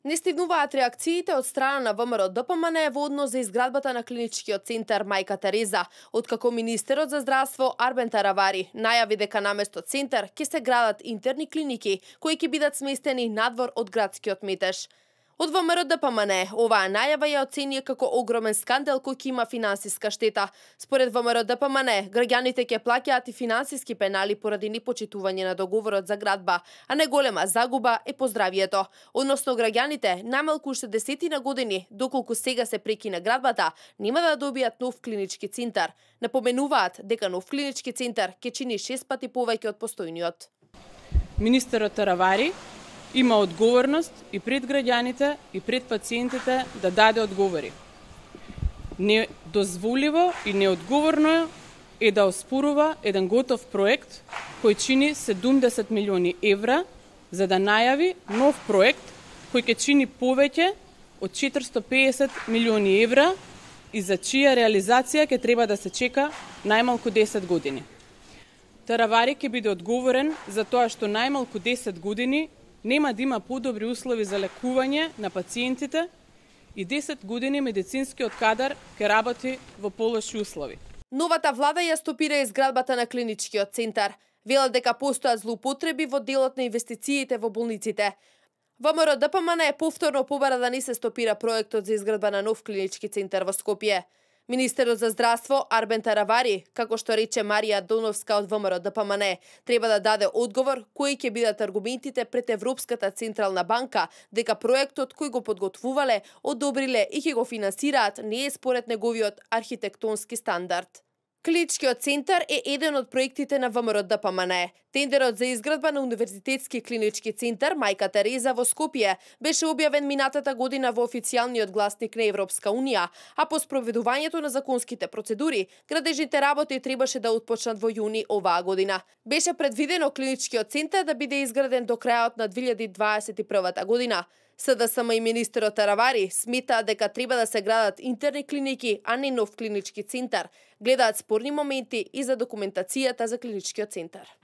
Не стигнуваат реакциите од страна на ВМРО-ДПМН во однос за изградбата на клиничкиот центар Мајка Тереза, откако министерот за здравство Арбен Таравари најави дека наместо центар ќе се градат интерни клиники кои ќе бидат сместени надвор од градскиот метеж. Од ВМРО-ДПМН оваа најава ја оцени како огромен скандал кој ќе има финансиска штета. Според ВМРО-ДПМН, граѓаните ќе плаќаат и финансиски пенали поради непочитување на договорот за градба, а најголема загуба е по здравието. Односно граѓаните најмалку уште 10 години, доколку сега се прекина градбата, нема да добијат нов клинички центар. Напоменуваат дека нов клинички центар ќе чини 6 пати повеќе од постојниот. Министерот Таравари има одговорност и пред граѓаните и пред пациентите да даде одговори. Недозволиво и неодговорно е да оспорува еден готов проект кој чини 70 милиони евра за да најави нов проект кој ќе чини повеќе од 450 милиони евра и за чија реализација ќе треба да се чека најмалку 10 години. Таравари ќе биде одговорен за тоа што најмалку 10 години нема да има подобри услови за лекување на пациентите и 10 години медицинскиот кадар ќе работи во полоши услови. Новата влада ја стопира изградбата на клиничкиот центар. Велат дека постојат злоупотреби во делот на инвестициите во болниците. ВМРО-ДПМН повторно побара да не се стопира проектот за изградба на нов клинички центар во Скопје. Министерот за здравство Арбен Таравари, како што рече Марија Доновска од ВМРО-ДПМН, треба да даде одговор кои ќе бидат аргументите пред Европската централна банка дека проектот кој го подготвувале, одобриле и ќе го финансираат не е според неговиот архитектонски стандард. Клиничкиот центар е еден од проектите на ВМРО-ДПМН. Тендерот за изградба на универзитетски клинички центар Мајка Тереза во Скопје беше објавен минатата година во официјалниот гласник на Европска унија, а по спроведувањето на законските процедури, градежните работи требаше да отпочнат во јуни оваа година. Беше предвидено клиничкиот центар да биде изграден до крајот на 2021 година. СДСМ и министерот Таравари сметаат дека треба да се градат интерни клиники, а не нов клинички центар. Гледаат спорни моменти и за документацијата за клиничкиот центар.